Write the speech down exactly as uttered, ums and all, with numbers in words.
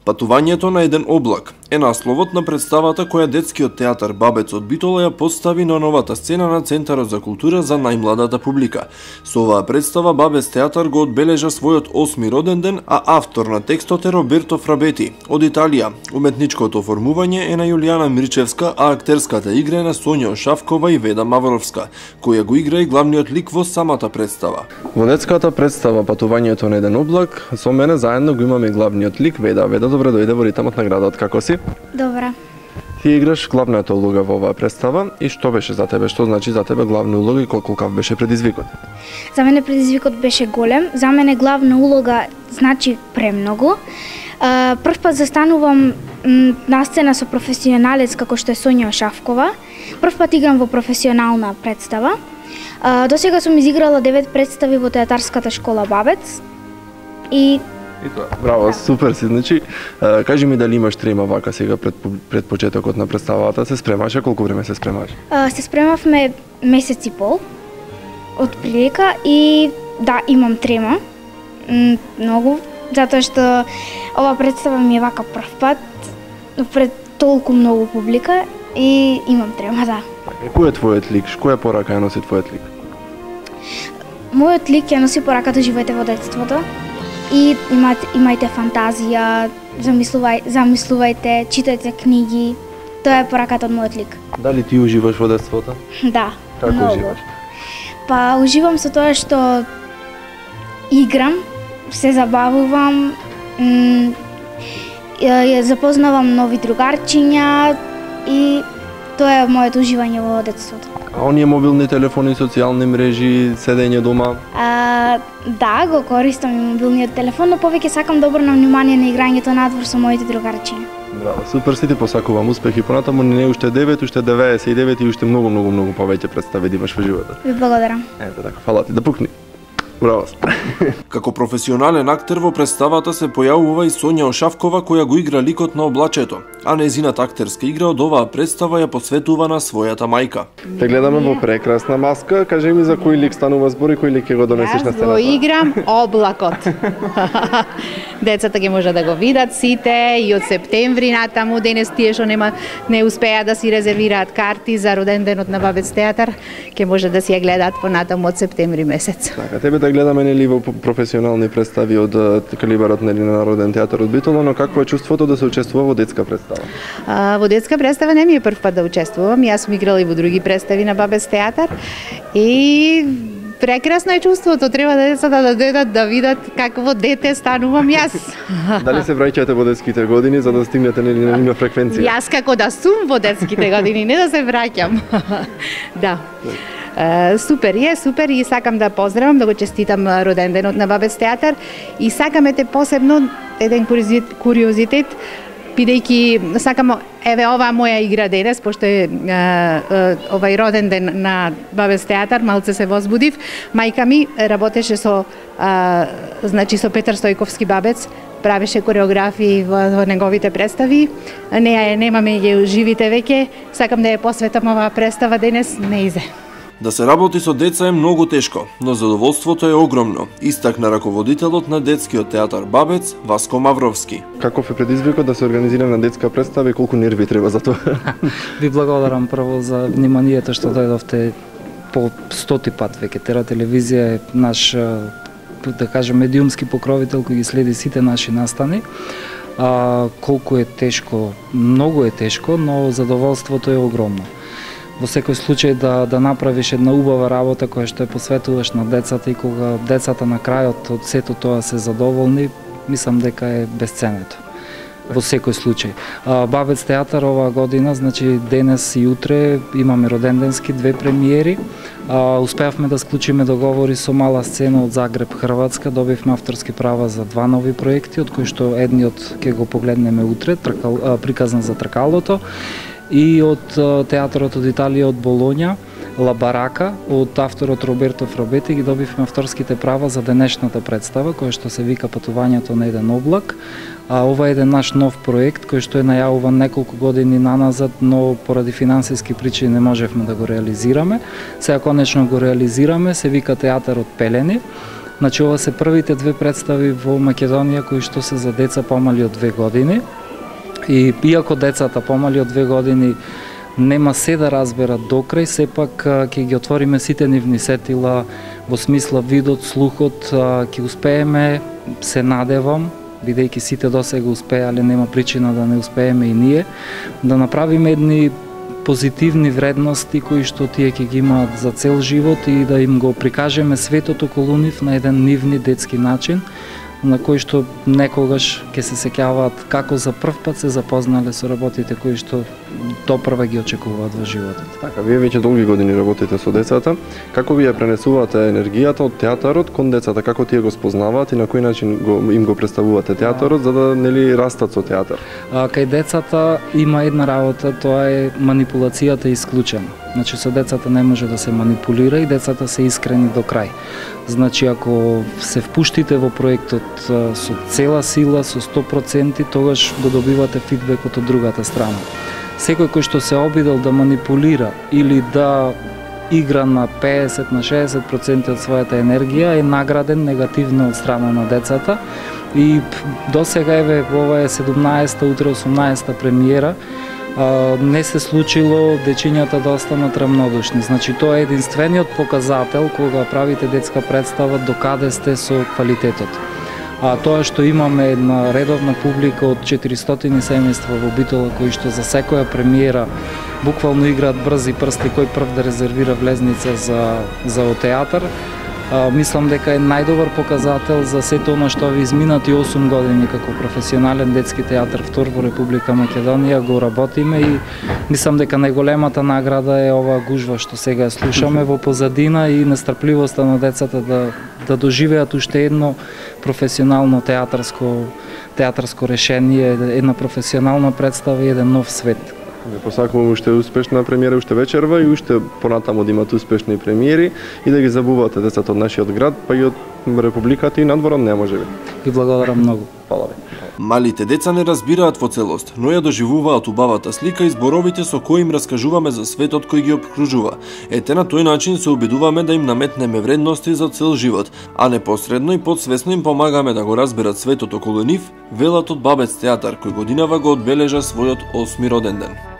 Патувањето на еден облак е насловот на представата која детскиот театар Бабец од Битола ја постави на новата сцена на Центарот за култура за најмладата публика. Со оваа представа Бабец театар го одбележа својот осми роден ден, а автор на текстот е Роберто Фрабети од Италија. Уметничкото оформување е на Јулијана Мирчевска, а актерската игра е на Сонја Ошавкова и Веда Мавровска, која го игра и главниот лик во самата представа. Во детската представа Патувањето на еден облак, со мене заедно го имаме главниот лик Веда. Веда, добре дојде во ритмот на градот, како си? Добра. Ти играш главната улога во оваа представа и што беше за тебе? Што значи за тебе главна улога и колкав беше предизвикот? За мене предизвикот беше голем. За мене главна улога значи премногу. Прв пат застанувам на сцена со професионалец како што е Сонја Ошавкова. Прв пат играм во професионална представа. До сега сум изиграла девет представи во театарската школа Бабец. И И тоа, браво, да. Супер си. Значи, кажи ми дали имаш трема вака сега пред, пред почетокот на представата, се спремаше, колку време се спремаш? А, се спремавме месец и пол, од прилика, и да, имам трема, М, многу, затоа што ова представа ми е вака прв пат, пред толку многу публика, и имам трема, да. Кој е твојот лик? Која порака ја носи твојот лик? Мојот лик ја носи пораката живеете во детството. И имате, имајте фантазија, замислувај, замислувајте, читајте книги. Тоа е пораката од мојот лик. Дали ти уживаш во детството? Да, Како многу. уживаш? Па уживам со тоа што играм, се забавувам, м, ја запознавам нови другарчиња и тоа е моето уживање во детството. А оние мобилни телефони, социјални мрежи, седење дома? А, да, го користам и мобилниот телефон, но повеќе сакам да обрнам внимание на играњето надвор со моите другарчиња. Браво, супер си, ти посакувам успех и понатаму не уште девет, уште деветдесет и девет и уште многу, многу, многу повеќе представи да имаш во животот. Ви благодарам. Ето така, фала ти, да пукни. Браво. Како професионален актер во представата се појавува и Сонја Ошавкова која го игра ликот на облачето, а нејзината актерска игра од оваа представа ја посветува на својата мајка. Те гледаме во прекрасна маска, кажи ми за кој лик станува збор и кој лик ќе го донесеш на Јас сцената? го играм облакот. Децата ќе може да го видат сите и од септември натаму, денес тие што нема не успеа да си резервираат карти за роден денот на Бабец театар, ќе може да си ја гледаат понатаму од септември месец. Така, тебе да гледаме нели во професионални представи од калибарот нели на Народен театар од Битола, но какво е чувството да се учествува во детска представа? А, во детска представа не ми е прв пат да учествувам. Јас сум играла и во други представи на Бабец театар и прекрасно е чувството. Треба да децата да дојдат да видат какво дете станувам јас. Дали се враќате во детските години за да стигнете нели на нивна фреквенција? Јас како да сум во детските години, не да се враќам. Да. Uh, супер е, супер и сакам да поздравам, да го честитам роден денот на Бабец театар и сакам ете посебно еден куриозитет, бидејќи сакам еве оваа моја игра денес, пошто е uh, uh, овај роден ден на Бабец театар, малце се возбудив. Мајка ми работеше со uh, значи со Петар Стојковски Бабец, правеше кореографии во, во неговите представи. Неја е немаме ја живите веќе, сакам да ја посветам оваа представа денес неизе. Да се работи со деца е многу тешко, но задоволството е огромно, истакна раководителот на детскиот театар Бабец, Васко Мавровски. Каков е предизвикот да се организира на детска представа и колку нерви треба за тоа? Ви благодарам прво за вниманието што дојдовте по стоти пат веќе. Тера телевизија е наш, да кажем, медиумски покровител кој ги следи сите наши настани. А, колку е тешко, многу е тешко, но задоволството е огромно. Во секој случај да да направиш една убава работа која што ја посветуваш на децата и кога децата на крајот од сето тоа се задоволни, мислам дека е бесценето. Во секој случај. А, Бабец театар оваа година, значи денес и утре имаме роденденски две премиери. А, успеавме да склучиме договори со мала сцена од Загреб, Хрватска, добивме авторски права за два нови проекти, од кои што едниот ќе го погледнеме утре, тркал, а, приказна за тркалото, и од театарот од Италија, од Болоња, Ла Барака, од авторот Роберто Фрабети ги добивме авторските права за денешната представа, која што се вика Патувањето на еден облак. А ова е еден наш нов проект кој што е најавуван неколку години наназад, но поради финансиски причини не можевме да го реализираме. Сега конечно го реализираме, се вика Театарот Пелени. Значи, ова се првите две представи во Македонија кои што се за деца помали од две години. И иако децата помали од две години нема се да разберат докрај, сепак ќе ги отвориме сите нивни сетила во смисла видот, слухот, ќе успееме, се надевам, бидејќи сите досега успеале, нема причина да не успееме и ние, да направиме едни позитивни вредности кои што тие ќе ги имаат за цел живот и да им го прикажеме светот околу нив на еден нивни детски начин, на кој што некогаш ќе се сеќаваат како за прв пат се запознале со работите кои што допрва ги очекуваат во животот. Така, вие веќе долги години работите со децата. Како вие пренесувате енергијата од театарот кон децата? Како тие го спознаваат и на кој начин го, им го представувате театарот за да нели растат со театар? А, кај децата има една работа, тоа е манипулацијата исклучена. Значи со децата не може да се манипулира и децата се искрени до крај. Значи ако се впуштите во проектот со цела сила, со сто проценти, тогаш го добивате фидбекот од другата страна. Секој кој што се обидел да манипулира или да игра на педесет на шеесет проценти од својата енергија е награден негативно од страна на децата. И досега еве ова е седумнаесета, утре осумнаесета премиера. Uh, не се случило дечињата да останат рамнодушни. Значи тоа е единствениот показател кога правите детска представа до каде сте со квалитетот. А тоа што имаме една редовна публика од четиристотини семејства во Битола кои што за секоја премиера буквално играат брзи прсти кој прв да резервира влезница за за театар. А, мислам дека е најдобар показател за сето она што ви изминати осум години како професионален детски театар втор во Република Македонија го работиме и мислам дека најголемата награда е ова гужва што сега слушаме во позадина и нестрпливоста на децата да да доживеат уште едно професионално театарско театарско решение, една професионална представа и еден нов свет. Не посакувам уште успешна премиера уште вечерва и уште понатаму да имат успешни премиери и да ги забувате децата од нашиот град, па и од Републиката и надворот не може би. Ви благодарам многу. Фала ви. Малите деца не разбираат во целост, но ја доживуваат убавата слика и зборовите со кои им раскажуваме за светот кој ги обкружува. Ете на тој начин се обидуваме да им наметнеме вредности за цел живот, а непосредно и подсвесно им помагаме да го разберат светот околу нив, велат од Бабец театар кој годинава го одбележа својот осми роденден.